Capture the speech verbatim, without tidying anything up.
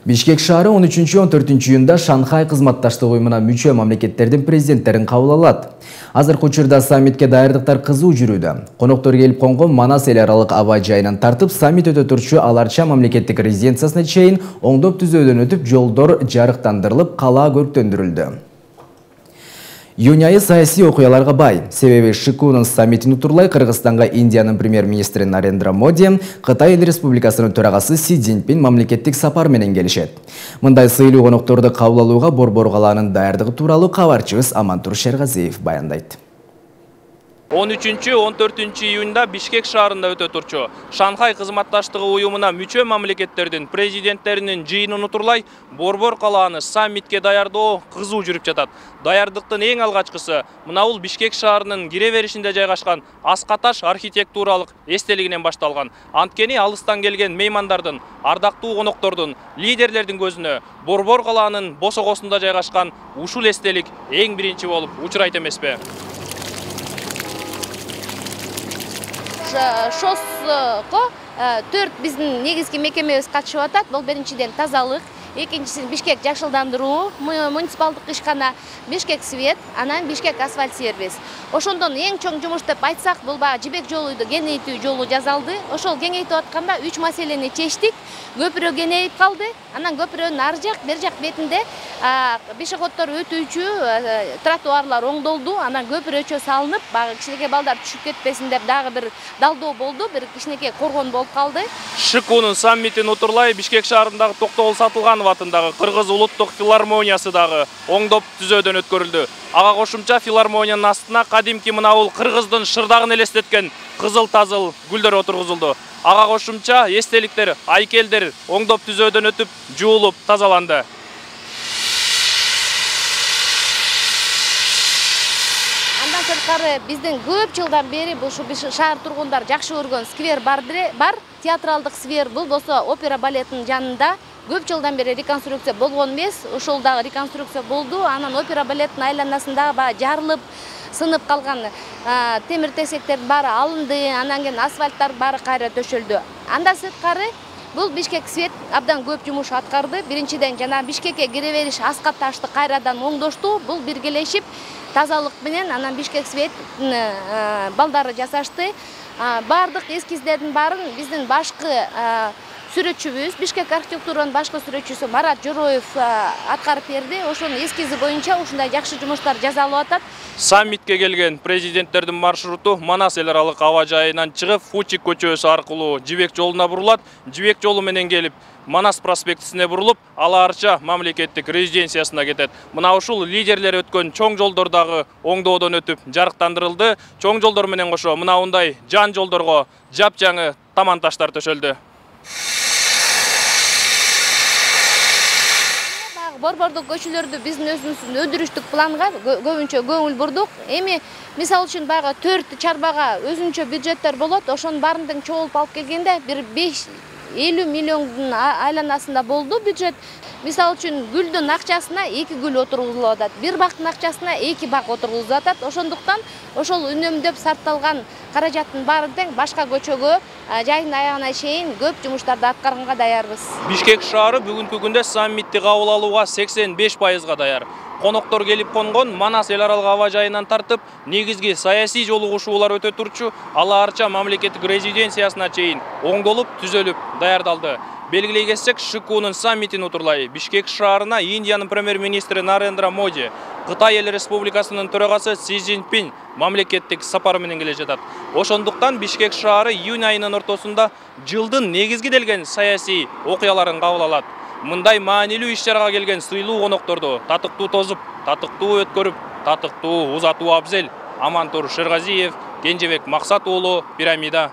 Бишкек шаары он үчүнчү — он төртүнчү июнда Шанхай кызматташтык уюмуна мүчө мамлекеттердин президенттерин кабыл алат. Азыркы учурда саммитке даярдыктар кызуу жүрүүдө. Коноктор келип конгон Манас эл аралык аба жайынан тартып, саммит өтө турчу Аларча мамлекеттик резиденциясына чейин оңдоп түзөөдөн өтүп, жолдор жарыктандырылып, калаа көрктөндүрүлдү. Июнь айы саясий окуяларга бай. Себеби Шикунун саммитин утурлай Кыргызстанга Индиянын премьер-министри Нарендра Моди, Кытай Эл Республикасынын төрагасы Си Цзиньпин мамлекеттик сапар менен келишет. Мындай сыйлуу конокторду кабыл алууга Борбор калаанын даярдыгы тууралуу кабарчыбыз Амантур Шергазиев баяндайт. он үчүнчү — он төртүнчү июнда Бишкек шаарында өтө турчу Шанхай кызматташтыгы уюмуна мүчө мамлекеттердин президенттеринин жыйынын утурлай Борбор калааны саммитке даярдоо кызуу жүрүп жатат. Даярдыктын эң алгачкысы мына бул Бишкек шаарынын кире беришинде жайгашкан Аскаташ архитектуралык эстелигинен башталган. Анткени алыстан келген меймандардын, ардактуу коноктордун, лидерлердин көзүнө Борбор калаанын босогосунда жайгашкан ушул эстелик эң биринчи болуп учурайт эмеспи? Шоско төрт биздин негизги мекемебиз катышып атат. Бул биринчиден тазалык, экинчиси Бишкек жакшылдандыруу, муниципалдык ишкана, Бишкек свет, анан Бишкек асфальт сервис. Ошондон эң чоң жумуш деп айтсак, бул баа жибек жолуйду кеңейтүү жолу жасалды. Ошол кеңейтип атканда үч маселени чечтик. Көпүрө кеңейип калды. Анан көпүрөнүн ар жак, бер жак бетинде пешеходдор өтүүчү тротуарлар оңдолду. Анан көпүрөчө салынып, багы кичинекей балдар түшүп кетпесин деп дагы бир далдоо болду, бир кичинекей коргон болуп калды. Шикунун саммитин утурлай Бишкек шаарындагы Токтогул Сатылганов атындагы Кыргыз улуттук филармониясы дагы оңдоп түзөөдөн өткөрүлдү. Ага кошумча филармониянын астына кадимки мына бул Кыргыздын шырдагын элестеткен кызыл-тазыл гүлдөр отургузулду. Ага кошумча эстеликтер, айкелдер оңдоп түзөөдөн өтүп, жуулуп тазаланды. Андан сырткары биздин көп жылдан бери бул шаар тургундар жакшы көргөн сквер бар, театралдык сквер. Бул болсо опера балетинин жанында. Көп жылдан бери реконструкция болгон эмес, ошол дагы реконструкция болду. Анан опера балеттин айланасында баа жарылып, сынып калган темир-тесектердин баары алынды, анан кийин асфальттар баары кайра төшөлдү. Андан сырткары бул Бишкек свет абдан көп жумуш аткарды. Биринчиден жана Бишкекке кире бериш Аскаташты кайрадан оңдошту. Бул биргелешип тазалык менен анан Бишкек свет балдары жасашты. Бардык эскиздердин баарын биздин башкы сүрөтчүбүз, Бишкек архитектуранын башкы сүрөтчүсү Марат Жороев аткарып берди. Ошонун эскизи боюнча ушундай жакшы жумуштар жасалып атат. Саммитке келген президенттердин маршруту Манас эл аралык аба жайынан чыгып, Фучик көчөсү аркылуу Жибек жолуна бурулат. Жибек жолу менен келип, Манас проспектисине бурулуп, Аларча мамлекеттик резиденциясына кетет. Мына ушул лидерлер өткөн чоң жолдор дагы оңдоодон өтүп, жарыктандырылды. Чоң жолдор менен кошо мына ундай жан жолдорго жапжаңы таман таштар төшөлдү. Борбордук көчөлөрдү биздин өзүбүздүн өндүрүштүк планга көбүнчө көңүл бурдук. Эми мисалы үчүн баягы төрт чарбага өзүнчө бюджеттер болот. Ошонун баарын чогулуп алып келгенде бир беш элүү миллиондун айланасында болду бюджет. Мисалы үчүн гүлдүн акчасына эки гүл отургузулуп атат, бир бактын акчасына эки бак отургузулуп атат. Ошондуктан ошол үнөмдөп сарпталган каражаттын баары тең башка көчөгө жайдын аягына чейин көп жумуштарды аткарганга даярбыз. Бишкек шаары бүгүнкү күндө саммитти кабыл алууга сексен беш пайызга даяр. Коноктор келип конгон Манас эл аралык аба жайынан тартып, негизги саясий жолугушуулар өтө турчу Аларча мамлекеттик резиденциясына чейин оңдолуп, түзөлүп, даярдалды. Белгилей кетсек, Шикунун саммитин утурлай Бишкек шаарына Индиянын премьер-министри Нарендра Моди, Кытай Эл Республикасынын төрагасы Си Цзиньпин мамлекеттик сапар менен келе жатат. Ошондуктан Бишкек шаары июнь айынын ортосунда жылдын негизги делген саясий окуяларын кабыл алат. Мындай маанилүү иш-чарага келген сыйлуу конокторду татыктуу тозуп, татыктуу өткөрүп, татыктуу узатуу абзел. Амантур Шергазиев, Кенжебек Максат уулу, Пирамида.